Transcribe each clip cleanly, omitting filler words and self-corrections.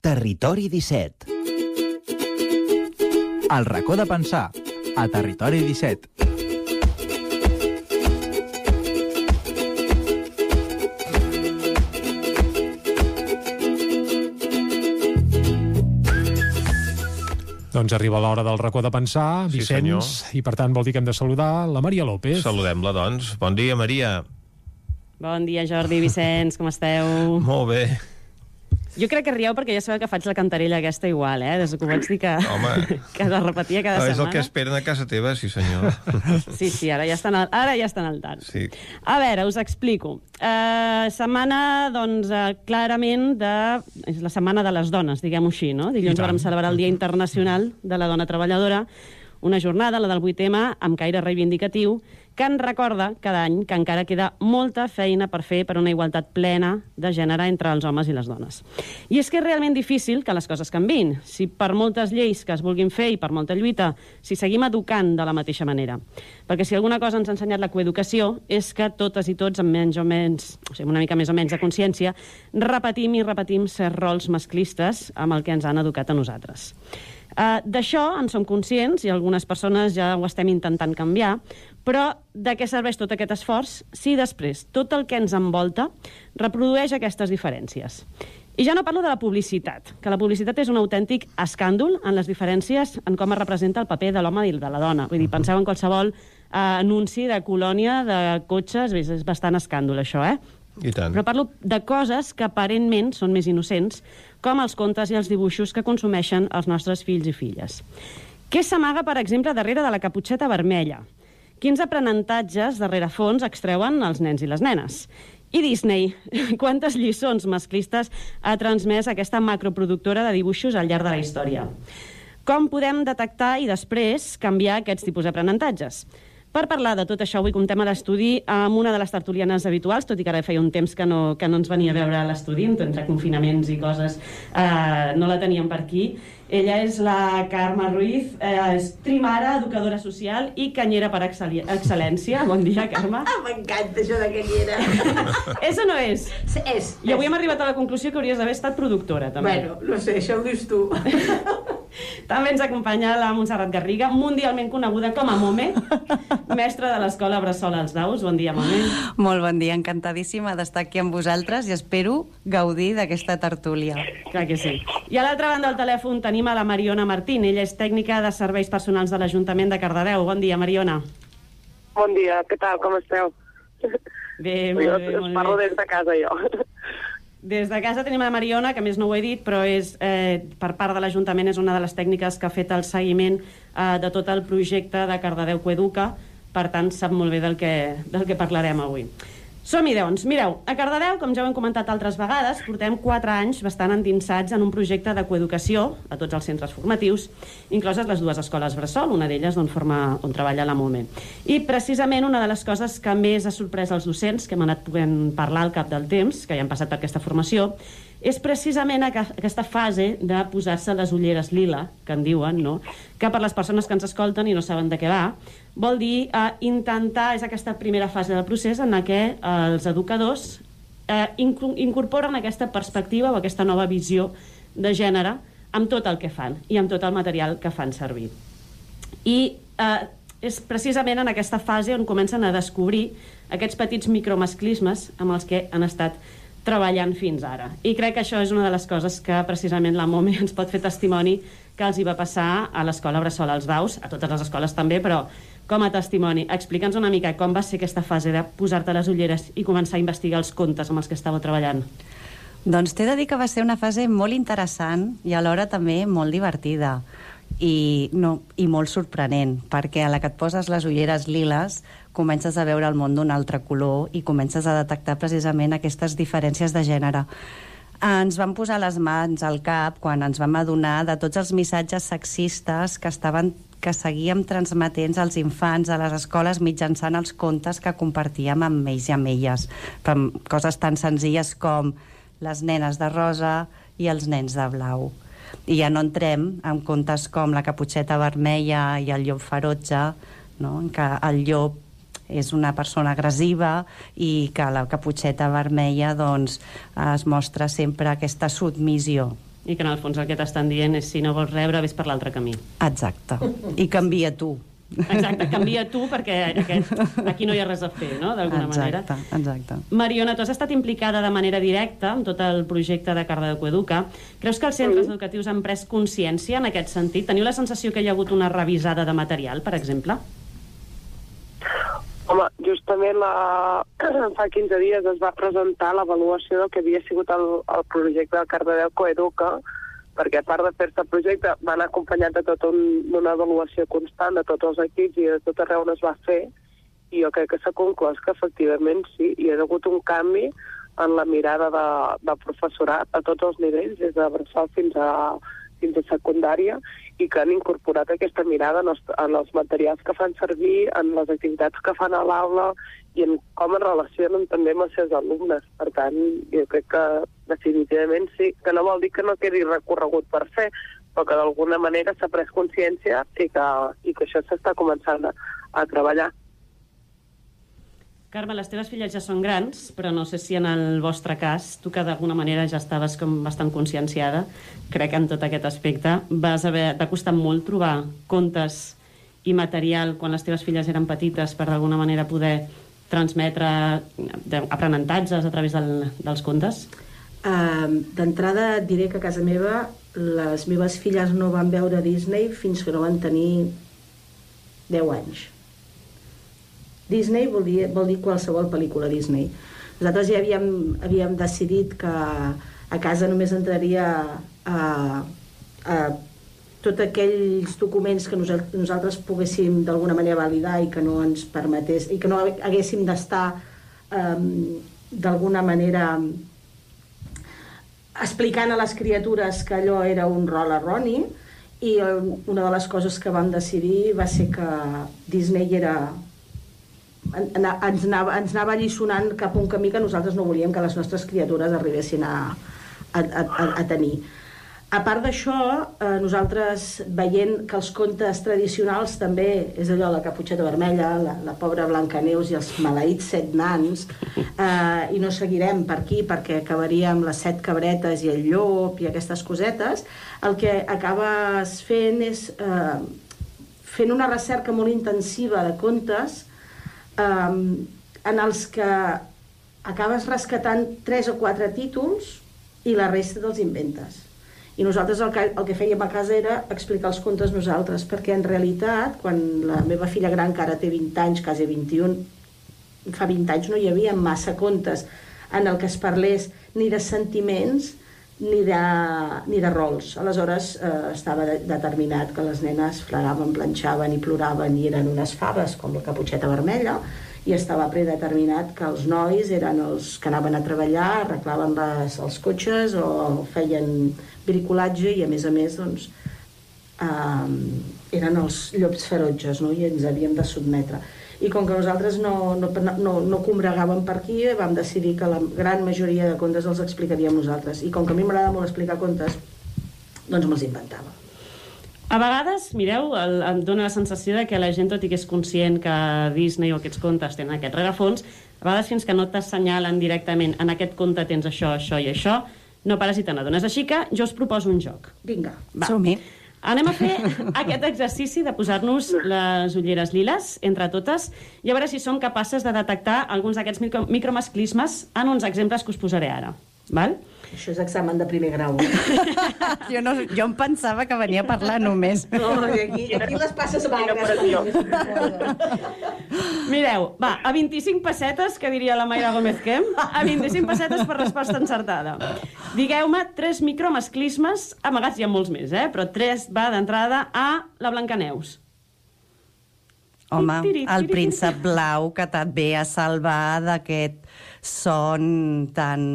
Territori 17. El racó de pensar, a Territori 17. Doncs arriba l'hora del racó de pensar, Vicenç, i per tant vol dir que hem de saludar la Maria López. Saludem-la, doncs. Bon dia, Maria. Bon dia, Jordi, Vicenç, com esteu? Molt bé. Jo crec que rieu perquè ja sabeu que faig la cantarella aquesta igual, Des que ho vaig dir que la repetia cada setmana. És el que esperen a casa teva, sí senyor. Sí, ara ja estan al tant. Sí. A veure, us explico. Setmana, doncs, clarament, és la setmana de les dones, diguem-ho així, no? Dilluns vam celebrar el Dia Internacional de la Dona Treballadora, una jornada, la del 8M, amb caire reivindicatiu, que ens recorda cada any que encara queda molta feina per fer per una igualtat plena de gènere entre els homes i les dones. I és que és realment difícil que les coses canviïn, si per moltes lleis que es vulguin fer i per molta lluita, si seguim educant de la mateixa manera. Perquè si alguna cosa ens ha ensenyat la coeducació és que totes i tots, amb menys o menys, o sigui, una mica més o menys de consciència, repetim i repetim certs rols masclistes amb el que ens han educat a nosaltres. D'això en som conscients i algunes persones ja ho estem intentant canviar, però de què serveix tot aquest esforç si després tot el que ens envolta reprodueix aquestes diferències? I ja no parlo de la publicitat, que la publicitat és un autèntic escàndol en les diferències en com es representa el paper de l'home i de la dona. Vull dir, penseu en qualsevol anunci de colònia, de cotxes, és bastant escàndol això, I tant. Però parlo de coses que aparentment són més innocents, com els contes i els dibuixos que consumeixen els nostres fills i filles. Què s'amaga, per exemple, darrere de la caputxeta vermella? Quins aprenentatges de rerefons extreuen els nens i les nenes? I Disney, quantes lliçons masclistes ha transmès aquesta macroproductora de dibuixos al llarg de la història? Com podem detectar i després canviar aquests tipus d'aprenentatges? Per parlar de tot això, avui comptem a l'estudi amb una de les tertulianes habituals, tot i que ara feia un temps que no ens venia a veure a l'estudi, entre confinaments i coses, no la teníem per aquí. Ella és la Carme Ruiz, és trimara, educadora social i canyera per excel·lència. Bon dia, Carme. M'encanta això de canyera. És o no és? És. I avui hem arribat a la conclusió que hauries d'haver estat productora, també. Bueno, no sé, això ho dius tu. També ens acompanya la Montserrat Garriga, mundialment coneguda com a Mome, mestra de l'escola Bressol als Daus. Bon dia, Mome. Molt bon dia, encantadíssima d'estar aquí amb vosaltres i espero gaudir d'aquesta tertúlia. Clar que sí. I a l'altra banda del telèfon tenim a la Mariona Martín. Ella és tècnica de serveis personals de l'Ajuntament de Cardedeu. Bon dia, Mariona. Bon dia, què tal, com esteu? Bé, molt bé. Us parlo des de casa, jo. Des de casa tenim la Mariona, que més no ho he dit, però és, per part de l'Ajuntament és una de les tècniques que ha fet el seguiment de tot el projecte de Cardedeu Coeduca, per tant sap molt bé del que parlarem avui. Som-hi, doncs. Mireu, a Cardedeu, com ja ho hem comentat altres vegades, portem 4 anys bastant endinsats en un projecte de coeducació a tots els centres formatius, incloses les 2 escoles Bressol, una d'elles on treballa la Mome. I precisament una de les coses que més ha sorprès els docents, que hem anat podent parlar al cap del temps, que ja han passat per aquesta formació, és precisament aquesta fase de posar-se les ulleres lila, que en diuen, no? Que per les persones que ens escolten i no saben de què va, vol dir intentar, és aquesta primera fase del procés en què els educadors incorporen aquesta perspectiva o aquesta nova visió de gènere amb tot el que fan i amb tot el material que fan servir. I és precisament en aquesta fase on comencen a descobrir aquests petits micromasclismes amb els que han estat treballant fins ara. I crec que això és una de les coses que precisament la Mome ens pot fer testimoni que els hi va passar a l'escola Bressol als Daus, a totes les escoles també, però com a testimoni. Explica'ns una mica com va ser aquesta fase de posar-te les ulleres i començar a investigar els contes amb els que estàveu treballant. Doncs t'he de dir que va ser una fase molt interessant i alhora també molt divertida i molt sorprenent, perquè a la que et poses les ulleres liles comences a veure el món d'un altre color i comences a detectar precisament aquestes diferències de gènere. Ens vam posar les mans al cap quan ens vam adonar de tots els missatges sexistes que seguíem transmetent als infants a les escoles mitjançant els contes que compartíem amb ells i amb elles. Coses tan senzilles com les nenes de rosa i els nens de blau. I ja no entrem en contes com la caputxeta vermella i el llop ferotge, no? En què el llop és una persona agressiva i que la caputxeta vermella doncs, es mostra sempre aquesta submissió. I que en el fons el que t'estan dient és si no vols rebre, vés per l'altre camí. Exacte. I canvia tu. Exacte, canvia tu perquè aquí no hi ha res a fer, no?, d'alguna manera. Exacte. Mariona, tu has estat implicada de manera directa en tot el projecte de Cardedeu Coeduca. Creus que els centres educatius han pres consciència en aquest sentit? Teniu la sensació que hi ha hagut una revisada de material, per exemple? Home, justament fa 15 dies es va presentar l'avaluació del que havia sigut el projecte de Cardedeu Coeduca, perquè a part de fer-se el projecte van acompanyat de tota una avaluació constant de tots els equips i de tot arreu on es va fer, i jo crec que s'ha conclòs que efectivament sí, hi ha hagut un canvi en la mirada del professorat a tots els nivells, des de bressol fins a secundària, i que han incorporat aquesta mirada en els materials que fan servir, en les activitats que fan a l'aula i en com es relacionen també amb els seus alumnes. Per tant, jo crec que definitivament sí, que no vol dir que no quedi recorregut per fer, però que d'alguna manera s'ha pres consciència i que això s'està començant a treballar. Carme, les teves filles ja són grans, però no sé si en el vostre cas, tu que d'alguna manera ja estaves com bastant conscienciada, crec en tot aquest aspecte, t'ha costat molt trobar contes i material quan les teves filles eren petites per d'alguna manera poder transmetre aprenentatges a través dels contes? D'entrada et diré que a casa meva les meves filles no van veure Disney fins que no van tenir 10 anys. Disney vol dir qualsevol pel·lícula Disney. Nosaltres ja havíem decidit que a casa només entraria tots aquells documents que nosaltres poguéssim d'alguna manera validar i que no ens permetés, i que no haguéssim d'estar d'alguna manera explicant a les criatures que allò era un rol erroni, i una de les coses que vam decidir va ser que Disney ens anava alliçonant cap a un camí que nosaltres no volíem que les nostres criatures arribessin a tenir. A part d'això, nosaltres veient que els contes tradicionals també és allò, la Caputxeta Vermella, la pobra Blancaneus i els maleïts 7 nans, i no seguirem per aquí perquè acabaríem les 7 cabretes i el llop i aquestes cosetes, el que acabes fent és fent una recerca molt intensiva de contes en els que acabes rescatant 3 o 4 títols i la resta te'ls inventes. I nosaltres el que fèiem a casa era explicar els contes nosaltres, perquè en realitat, quan la meva filla gran, que ara té 20 anys, quasi 21, fa 20 anys no hi havia massa contes en el que es parlés ni de sentiments ni de rols. Aleshores estava determinat que les nenes fregaven, planxaven i ploraven i eren unes faves com la Caputxeta Vermella, i estava predeterminat que els nois eren els que anaven a treballar, arreglaven els cotxes o feien bricolatge, i a més doncs, eren els llops ferotges, no? I ens havíem de sotmetre. I com que nosaltres no combregàvem per aquí, vam decidir que la gran majoria de contes els explicaríem nosaltres. I com que a mi m'agrada molt explicar contes, doncs me'ls inventava. A vegades, mireu, em dóna la sensació de que la gent, tot i que és conscient que Disney o aquests contes tenen aquest rerefons, a vegades fins que no t'assenyalen directament en aquest conte tens això, això i això, no pares i te n'adones. Així que jo us proposo un joc. Vinga. Som-hi. Anem a fer aquest exercici de posar-nos les ulleres liles entre totes i a veure si som capaces de detectar alguns d'aquests micromasclismes en uns exemples que us posaré ara. Val? Això és examen de primer grau. Jo em pensava que venia a parlar només. No, aquí les passes magres. Mireu, va, a 25 pessetes, que diria la Mayra Gómez Kem, a 25 pessetes per resposta encertada. Digueu-me 3 micromasclismes, amagats hi ha molts més, però 3 va d'entrada a la Blancaneus. Home, el príncep blau que et ve a salvar d'aquest son tan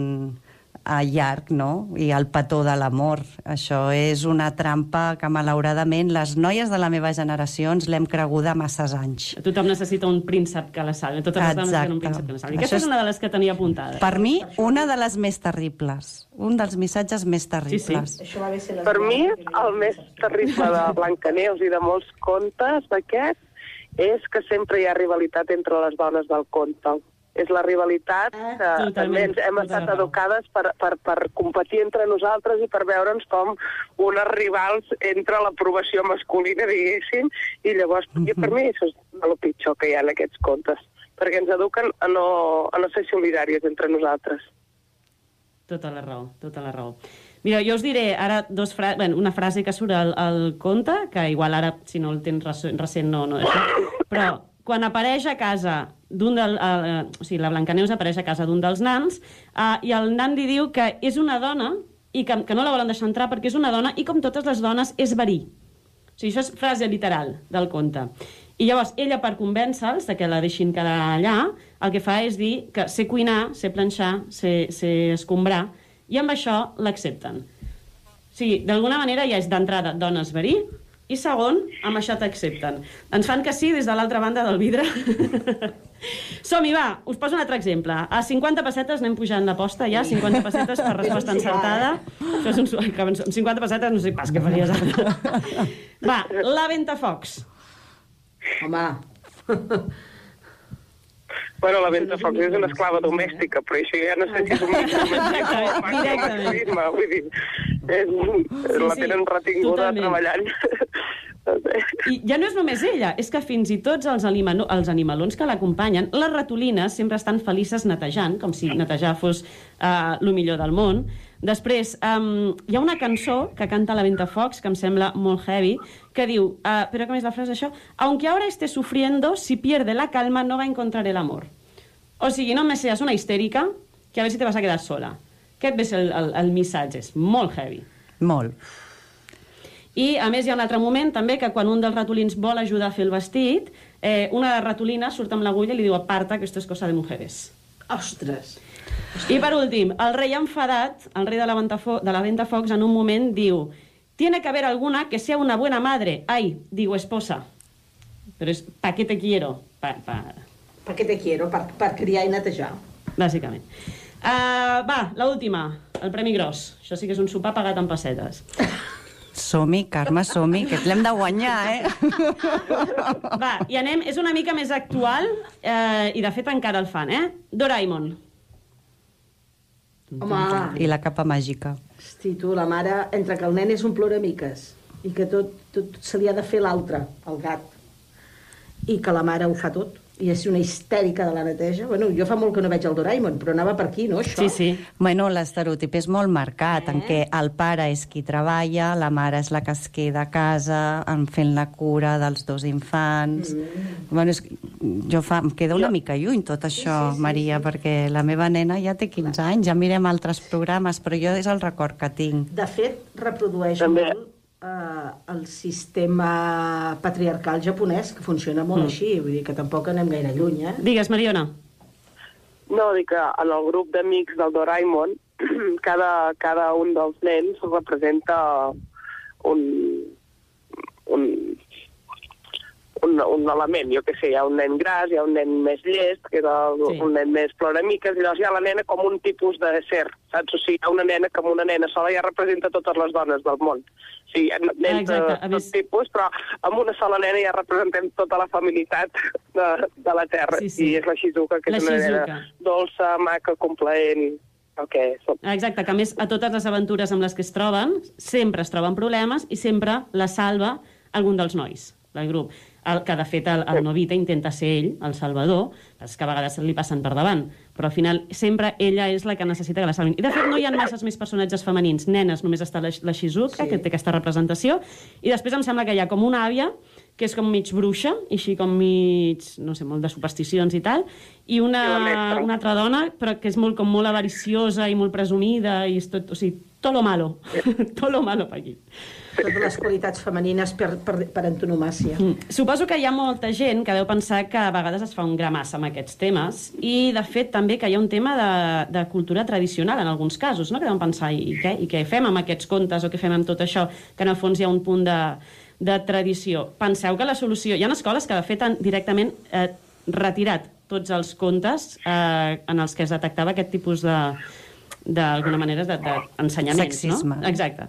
llarg, no? I el petó de l'amor. Això és una trampa que, malauradament, les noies de la meva generació ens l'hem creguda masses anys. Tothom necessita un príncep que la salvi. Totes les dones necessiten un príncep que la salvi. Aquesta és una de les que tenia apuntada. Per mi, una de les més terribles. Un dels missatges més terribles. Sí. Per mi, el més terrible de Blancaneus i de molts contes d'aquests és que sempre hi ha rivalitat entre les dones del conte. és la rivalitat. També hem estat educades per competir entre nosaltres i per veure'ns com unes rivals entre l'aprovació masculina, diguéssim, i llavors, per mi, això és el pitjor que hi ha en aquests contes, perquè ens eduquen a no ser solidàries entre nosaltres. Tota la raó. Mira, jo us diré ara una frase que surt al conte, que igual ara, si no el tens recent, no això, però quan apareix a casa o sigui, la Blancaneus apareix a casa d'un dels nans i el nan li diu que és una dona i que no la volen deixar entrar perquè és una dona i com totes les dones és verí. O sigui, això és frase literal del conte. I llavors ella, per convèncer-los que la deixin quedar allà, el que fa és dir que sé cuinar, sé planxar, sé escombrar, i amb això l'accepten. O sigui, d'alguna manera ja és d'entrada dones verí, i segon, amb això t'accepten. Ens fan que sí des de l'altra banda del vidre. Som-hi, va, us poso un altre exemple. A 50 pessetes anem pujant l'aposta ja, 50 pessetes per resposta encertada. Això és 50 pessetes no sé pas què faries ara. Va, la Ventafocs. Home... Bueno, la Ventafocs és una esclava domèstica, però això ja no sé si és un masclisme, vull dir, la tenen retinguda treballant. I ja no és només ella, és que fins i tots els animalons que l'acompanyen, les ratolines sempre estan felices netejant, com si netejar fos el millor del món. Després, hi ha una cançó que canta la Ventafocs, que em sembla molt heavy, que diu, però com és la frase això? Aunque ahora esté sufriendo, si pierde la calma no va a encontrar el amor. O sigui, no me seas una histèrica, que a veure si te vas a quedar sola. Aquest ve ser el missatge, és molt heavy. Molt. I, a més, hi ha un altre moment, també, que quan un dels ratolins vol ajudar a fer el vestit, una ratolina surt amb l'agulla i li diu, aparta, que esto es cosa de mujeres. Ostres! I, per últim, el rei enfadat, el rei de la Ventafocs, en un moment diu, tiene que haber alguna que sea una buena madre. Ai, digo esposa. Però és, ¿pa qué te quiero? Pa qué te quiero? Per criar i netejar. Bàsicament. Va, l'última, el Premi Gros. Això sí que és un sopar pagat en pessetes. Som-hi, Carme, som-hi, que l'hem de guanyar, Va, i anem, és una mica més actual, i de fet encara el fan, Doraemon. Home! I la capa màgica. Hosti, tu, la mare, entre que el nen és un ploramiques i que tot se li ha de fer l'altre, el gat, i que la mare ho fa tot, i és una histèrica de la neteja. Bueno, jo fa molt que no veig el Doraemon, però anava per aquí, no, això? Sí. Bueno, l'estereotip és molt marcat, en què el pare és qui treballa, la mare és la que es queda a casa, fent la cura dels dos infants... Bueno, em queda una mica lluny tot això, Maria, perquè la meva nena ja té 15 anys, ja mirem altres programes, però jo és el record que tinc. De fet, reprodueix molt el sistema patriarcal japonès, que funciona molt així, vull dir que tampoc anem gaire lluny, Digues, Mariona. No, dic que en el grup d'amics del Doraemon, cada un dels nens representa un element, jo què sé, hi ha un nen gras, hi ha un nen més llest, que és un nen més ploramiques, i llavors hi ha la nena com un tipus de ser, saps? O sigui, hi ha una nena que amb una nena sola ja representa totes les dones del món. O sigui, hi ha nens de tot tipus, però amb una sola nena ja representem tota la familiaritat de la Terra. I és la Shizuka, que és una nena dolça, maca, complaent... Exacte, que a més a totes les aventures amb les que es troben, sempre es troben problemes i sempre la salva algun dels nois del grup. Que de fet el Nobita intenta ser ell, el salvador, és que a vegades li passen per davant, però al final sempre ella és la que necessita que la salvin. I de fet no hi ha masses més personatges femenins, nenes, només està la Shizuka, que té aquesta representació, i després em sembla que hi ha com una àvia, que és com mig bruixa, i així com mig, no sé, molt de supersticions i tal, i una altra dona, però que és molt avariciosa i molt presumida, i és tot, o sigui, tot lo malo, tot lo malo per aquí. Totes les qualitats femenines per antonomàcia. Suposo que hi ha molta gent que deu pensar que a vegades es fa un gra massa amb aquests temes, i de fet també que hi ha un tema de cultura tradicional en alguns casos, no? Que deuen pensar, i què fem amb aquests contes, o què fem amb tot això, que en el fons hi ha un punt de tradició. Penseu que la solució... Hi ha escoles que de fet han directament retirat tots els contes en els que es detectava aquest tipus d'alguna manera d'ensenyaments, no? Sexisme. Exacte.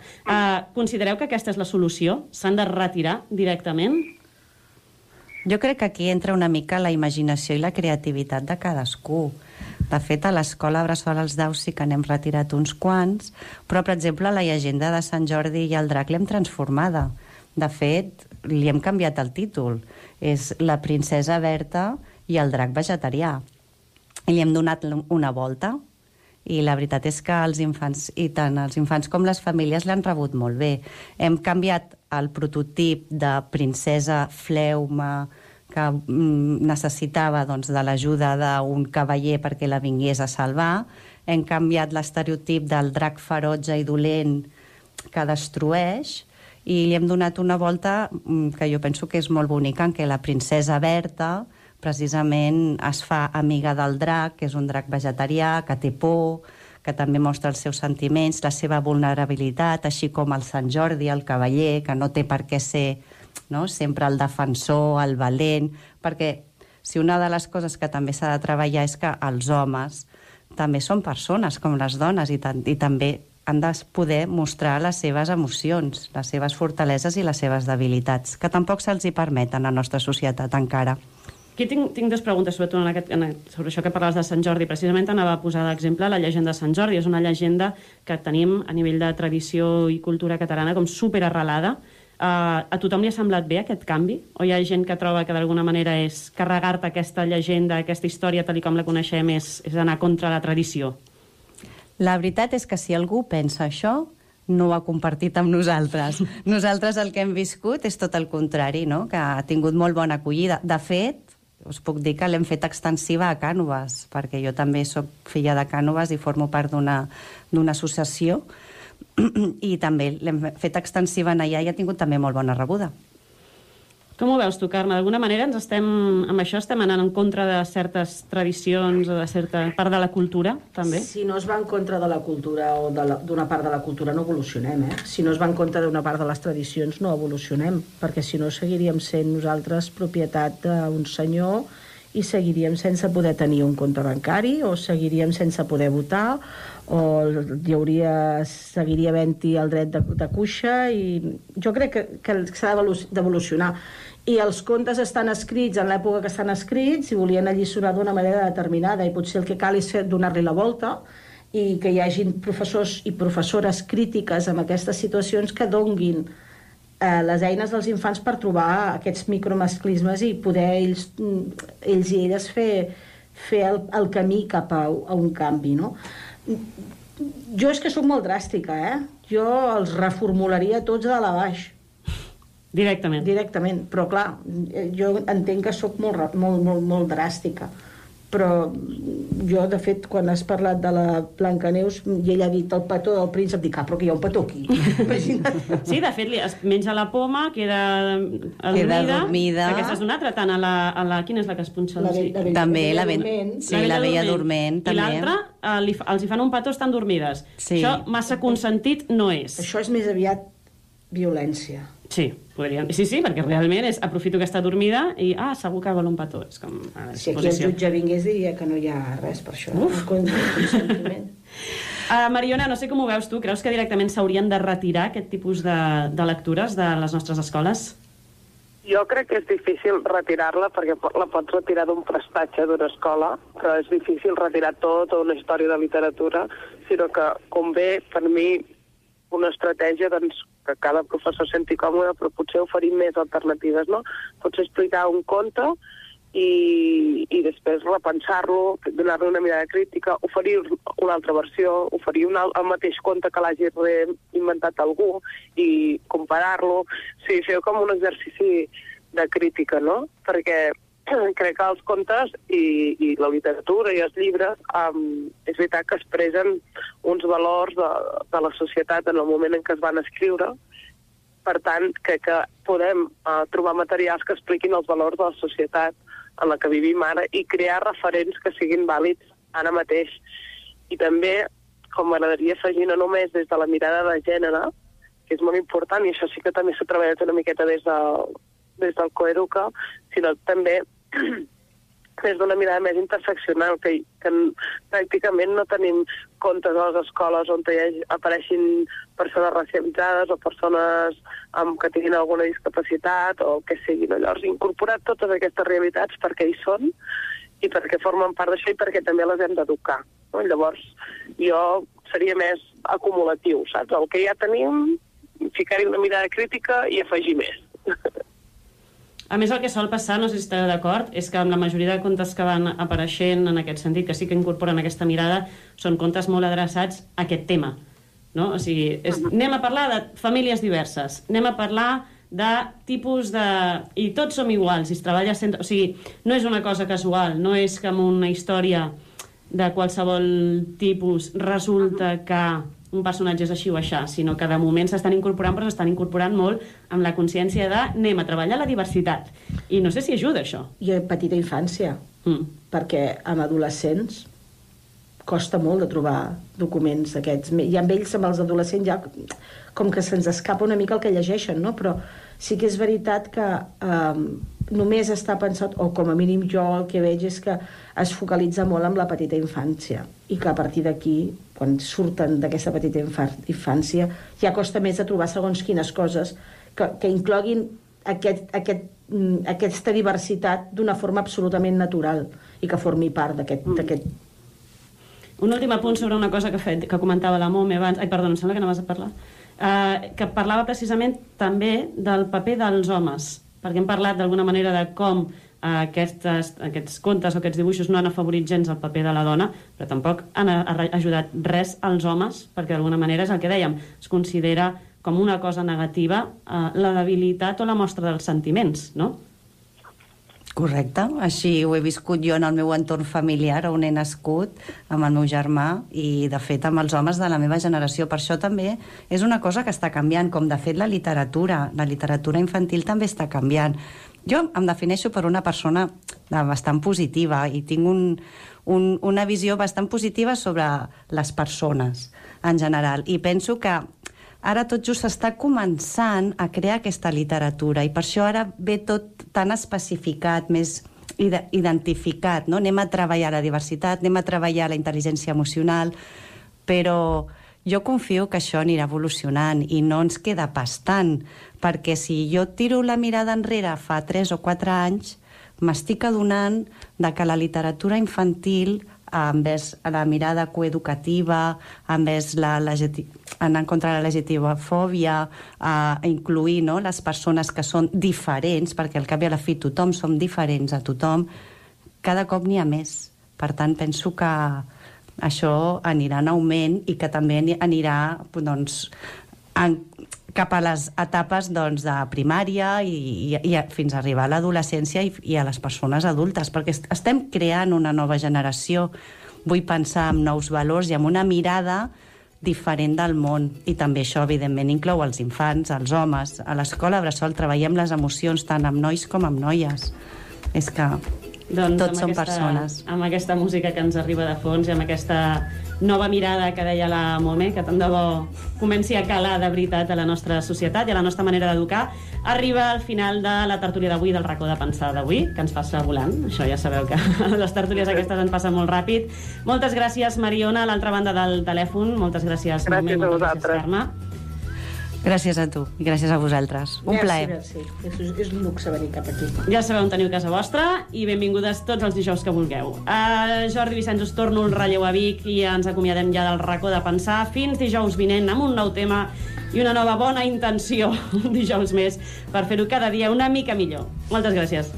Considereu que aquesta és la solució? S'han de retirar directament? Jo crec que aquí entra una mica la imaginació i la creativitat de cadascú. De fet, a l'escola Bressol als Daus sí que n'hem retirat uns quants, però, per exemple, la llegenda de Sant Jordi i el drac l'hem transformada. De fet, li hem canviat el títol. És La princesa Berta i el drac vegetarià. I li hem donat una volta. I la veritat és que els infants, i tant els infants com les famílies, l'han rebut molt bé. Hem canviat el prototip de princesa fleuma que necessitava de l'ajuda d'un cavaller perquè la vingués a salvar. Hem canviat l'estereotip del drac ferotge i dolent que destrueix i li hem donat una volta que jo penso que és molt bonica, en què la princesa Berta precisament es fa amiga del drac, que és un drac vegetarià, que té por, que també mostra els seus sentiments, la seva vulnerabilitat, així com el Sant Jordi, el cavaller, que no té per què ser sempre el defensor, el valent, perquè si una de les coses que també s'ha de treballar és que els homes també són persones com les dones i també han de poder mostrar les seves emocions, les seves fortaleses i les seves debilitats, que tampoc se'ls hi permeten a la nostra societat encara. Aquí tinc dues preguntes, sobretot sobre això que parlaves de Sant Jordi. Precisament anava a posar d'exemple la llegenda de Sant Jordi. És una llegenda que tenim a nivell de tradició i cultura catalana com superarrelada. A tothom li ha semblat bé aquest canvi? O hi ha gent que troba que d'alguna manera és carregar-te aquesta llegenda, aquesta història tal com la coneixem, és anar contra la tradició? La veritat és que si algú pensa això, no ho ha compartit amb nosaltres. Nosaltres el que hem viscut és tot el contrari, no? Que ha tingut molt bona acollida. De fet, us puc dir que l'hem fet extensiva a Cànoves, perquè jo també soc filla de Cànoves i formo part d'una associació, i també l'hem fet extensiva allà i ha tingut també molt bona rebuda. Com ho veus tu, Carme? D'alguna manera amb això estem anant en contra de certes tradicions o de certa part de la cultura, també? Si no es va en contra de la cultura o d'una part de la cultura no evolucionem, Si no es va en contra d'una part de les tradicions no evolucionem, perquè si no seguiríem sent nosaltres propietat d'un senyor i seguiríem sense poder tenir un compte bancari o seguiríem sense poder votar o seguiria havent-hi el dret de cuixa i jo crec que s'ha d'evolucionar. I els contes estan escrits en l'època que estan escrits i volien alliçonar d'una manera determinada i potser el que cal és donar-li la volta i que hi hagin professors i professores crítiques amb aquestes situacions que donguin les eines dels infants per trobar aquests micromasclismes i poder ells i elles fer el camí cap a un canvi, no? Jo és que sóc molt dràstica, Jo els reformularia tots de dalt a baix. Directament. Directament, però clar, jo entenc que sóc molt dràstica. Però jo, de fet, quan has parlat de la Blancaneus i ella ha dit el petó del príncep, dic, però que hi ha un petó aquí. Sí, de fet, es menja la poma, queda adormida. Aquesta és una altra, tant a la... Quina és la que es punxa? També, la Bella Dorment. I l'altra, els hi fan un petó, estan dormides. Això massa consentit no és. Això és més aviat violència. Sí, podríem... Sí, perquè realment aprofito que està dormida i, segur que vol un petó. És com... Si aquí el jutge vingués diria que no hi ha res per això. Consentiment. Mariona, no sé com ho veus tu. Creus que directament s'haurien de retirar aquest tipus de lectures de les nostres escoles? Jo crec que és difícil retirar-la perquè la pots retirar d'un prestatge d'una escola, però és difícil retirar tota una història de literatura, sinó que convé, per mi, una estratègia que cada professor senti còmode, però potser oferir més alternatives, no? Potser explicar un conte i després repensar-lo, donar-li una mirada crítica, oferir una altra versió, oferir el mateix conte que l'hagi inventat algú i comparar-lo. Sí, fer com un exercici de crítica, no? Perquè crec que els contes i la literatura i els llibres és veritat que expressen uns valors de la societat en el moment en què es van escriure. Per tant, crec que podem trobar materials que expliquin els valors de la societat en la que vivim ara i crear referents que siguin vàlids ara mateix. I també, com m'agradaria afegir, no només des de la mirada de gènere, que és molt important, i això sí que també s'ha treballat una miqueta des del Coeduca, sinó també és d'una mirada més interseccional, que pràcticament no tenim contes a les escoles on apareixin persones racialitzades o persones que tinguin alguna discapacitat o el que sigui. Llavors, incorporar totes aquestes realitats perquè hi són i perquè formen part d'això i perquè també les hem d'educar. Llavors, jo seria més acumulatiu, saps? El que ja tenim, ficar-hi una mirada crítica i afegir més. A més, el que sol passar, no sé si esteu d'acord, és que amb la majoria de contes que van apareixent en aquest sentit, que sí que incorporen aquesta mirada, són contes molt adreçats a aquest tema. No? O sigui, anem a parlar de famílies diverses, anem a parlar de tipus de... I tots som iguals, i es treballa sempre... O sigui, no és una cosa casual, no és que amb una història de qualsevol tipus resulta que un personatge és així o aixà, sinó que de moment s'estan incorporant, però s'estan incorporant molt amb la consciència de anem a treballar la diversitat. I no sé si ajuda, això. I a petita infància, perquè amb adolescents costa molt de trobar documents d'aquests. I amb ells, amb els adolescents, ja com que se'ns escapa una mica el que llegeixen, no? Però sí que és veritat que només està pensat, o com a mínim jo el que veig és que es focalitza molt en la petita infància i que a partir d'aquí, quan surten d'aquesta petita infància, ja costa més de trobar segons quines coses que incloguin aquesta diversitat d'una forma absolutament natural i que formi part d'aquest... Un últim apunt sobre una cosa que comentava la Mome abans. Ai, perdó, em sembla que anaves a parlar. Que parlava precisament també del paper dels homes, perquè hem parlat d'alguna manera de com aquests contes o aquests dibuixos no han afavorit gens el paper de la dona, però tampoc han ajudat res als homes, perquè d'alguna manera és el que dèiem, es considera com una cosa negativa la debilitat o la mostra dels sentiments, no? Correcte, així ho he viscut jo en el meu entorn familiar, on he nascut amb el meu germà i de fet amb els homes de la meva generació. Per això també és una cosa que està canviant, com de fet la literatura infantil també està canviant. Jo em defineixo per una persona bastant positiva i tinc una visió bastant positiva sobre les persones en general, i penso que ara tot just s'està començant a crear aquesta literatura i per això ara ve tot tan especificat, més identificat, no? Anem a treballar la diversitat, anem a treballar la intel·ligència emocional, però jo confio que això anirà evolucionant i no ens queda pas tant, perquè si jo tiro la mirada enrere fa 3 o 4 anys, m'estic adonant que la literatura infantil, envers la mirada coeducativa, envers anar en contra de la LGTB-fòbia, incluir les persones que són diferents, perquè al cap i a la fi tothom som diferents a tothom, cada cop n'hi ha més. Per tant, penso que això anirà en augment i que també anirà cap a les etapes de primària i fins a arribar a l'adolescència i a les persones adultes, perquè estem creant una nova generació. Vull pensar en nous valors i amb una mirada diferent del món. I també això, evidentment, inclou els infants, els homes. A l'escola Bressol treballem les emocions tant amb nois com amb noies. És que tots són persones. Amb aquesta música que ens arriba de fons i amb aquesta nova mirada que deia la Mome, que tant de bo comenci a calar de veritat a la nostra societat i a la nostra manera d'educar, arriba al final de la tertúlia d'avui, del racó de pensar d'avui, que ens passa volant. Això ja sabeu que les tertúlies aquestes ens passen molt ràpid. Moltes gràcies, Mariona, a l'altra banda del telèfon. Moltes gràcies, Mome. Gràcies a vosaltres. Carme. Gràcies a tu i gràcies a vosaltres. Un plaer. És un luxe venir cap aquí. Ja sabeu on teniu casa vostra i benvingudes tots els dijous que vulgueu. Jordi Vicenç, us torno el relleu a Vic i ens acomiadem ja del racó de pensar. Fins dijous vinent amb un nou tema i una nova bona intenció, un dijous més, per fer-ho cada dia una mica millor. Moltes gràcies.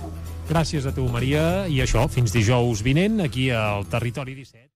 Gràcies a tu, Maria. I això, fins dijous vinent, aquí al Territori 17.